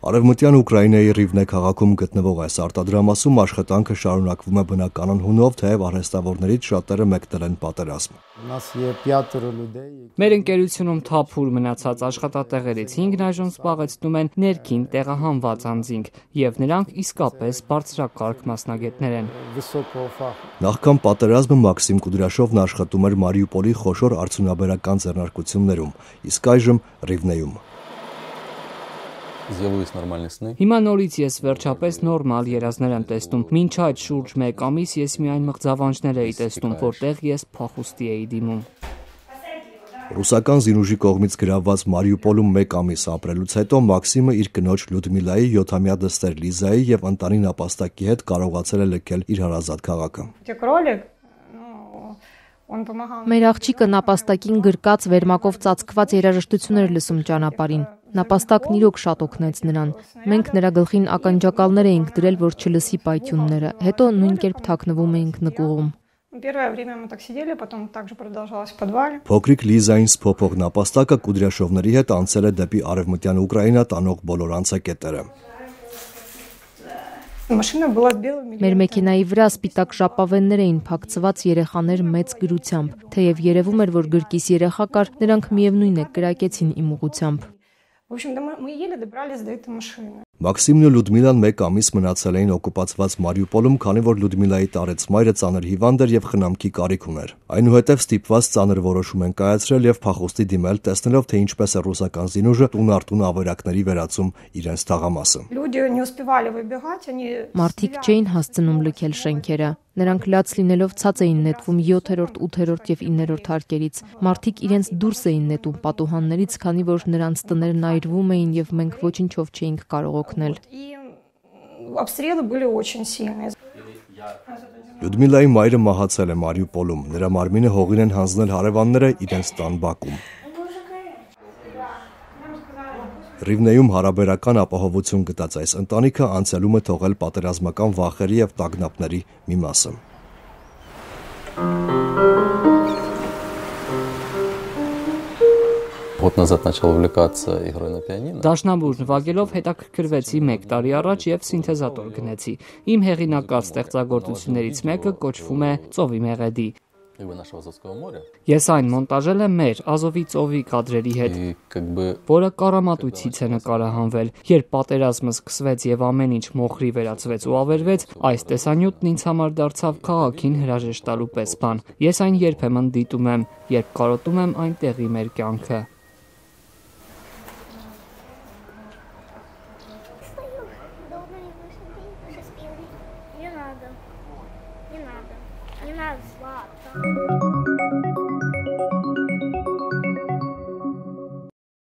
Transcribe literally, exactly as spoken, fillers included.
Արևմտյան Ուկրաինայի Ռիվնե քաղաքում գտնվող այս արտադրամասում աշխատանքը շարունակվում է բնականon հունով, թեև արհեստավորներից շատերը մեկնել են պատերազմ։ Մեր ընկերությունում թափուր մնացած աշխատատեղերից հինգն այժմ զբաղեցնում են ներքին տեղահանված անձինք, եւ նրանք իսկապես բարձրակարգ մասնագետներ են։ Նախքան պատերազմը Մաքսիմ Կուդրաշովն աշխատում էր Մարիուպոլի խոշոր արդյունաբերական ձեռնարկություններում, իսկ այժմ Ռիվնեում։ Հիմա նորից ես վերջապես նորմալ երազներ եմ տեսնում։ Մինչ այդ շուրջ մեկ ամիս ես միայն մղձավանջներ էի տեսնում, որտեղ ես փախուստի էի դիմում։ Ռուսական զինուժի կողմից գրավված Մարիուպոլում մեկ ամիս ապրելուց հետո Մաքսիմը իր կնոջ Լյուդմիլայի, յոթամյա դստեր Լիզայի եւ ընտանի նապաստակի հետ կարողացել է լքել իր հարազատ քաղաքը։ Մեր աղջիկը նապաստակին գրկած վերմակով ծածկված երաժշտություն էր լսում ճանապարհին։ Նապաստակն իրոք շատ օգնեց նրան։ Մենք նրա գլխին ականջակալներ էինք դրել, որ չլսի պայթյունները։ Հետո նույն կերպ թաքնվում էինք նկուղում։ Փոքրիկ Լիզային սփոփող նապաստակը Կուդրաշովների հետ անցել է դեպի արևմտյան Ուկրաինա տանող բոլոր անցակետերը։ Մեր մեքենայի վրա սպիտակ ժապավեններ էին փակցված երեխաներ մեծ գրությամբ, թեև երևում էր, որ գրկիս երեխա կար, նրանք միևնույն է կրակեցին իմ ուղղությամբ։ Մաքսիմն ու Լյուդմիլան մեկ ամիս մնացել էին օկուպացված Մարիուպոլում, քանի որ Լյուդմիլայի տարեց մայրը ծանր հիվանդ էր եւ խնամքի կարիք ուներ։ Այնուհետև ստիպված ծանր որոշում են կայացրել եւ փախուստի դիմել, տեսնելով թե ինչպես է ռուսական զինուժը տուն առ տուն ավերակների վերածում իրենց թաղամասը։ Մարդիկ չէին հասցնում լքել շենքերը։ Նրանք լաց լինելով ցած էին նետվում յոթերորդ, ութերորդ եւ իններորդ հարկերից։ Մարդիկ իրենց դուրս էին նետում պատուհաններից, քանի որ նրանց տներն այրվում էին եւ մենք ոչինչով չէինք կարող օգնել։ Լյուդմիլայի մայրը մահացել է Մարիուպոլում։ Նրա մարմինը հողին են հանձնել հարևանները իրենց տան բակում։ Ռիվնեում հարաբերական ապահովություն գտած այս ընտանիքը անցյալում է թողել պատերազմական վախերի եւ տագնապների մի մասը։ Դաշնամուր նվագելով հետաքրքրվեցի մեկ տարի առաջ եւ սինթեզատոր գնեցի։ Իմ հեղինակած ստեղծագործություններից մեկը կոչվում է Ծովի մեղեդի։ Ես այն մոնտաժել եմ մեր Ազովի ծովի կադրերի հետ, որը կառամատույցից է նկարահանվել։ Երբ պատերազմը սկսվեց եւ ամեն ինչ մոխրի վերածվեց ու ավերվեց, այս տեսանյութն ինձ համար դարձավ քաղաքին հրաժեշտ տալու պես բան։ Ես այն երբեմն դիտում եմ, երբ կարոտում եմ այնտեղի մեր կյանքը։ Не надо. Не надо. Не надо, сладко.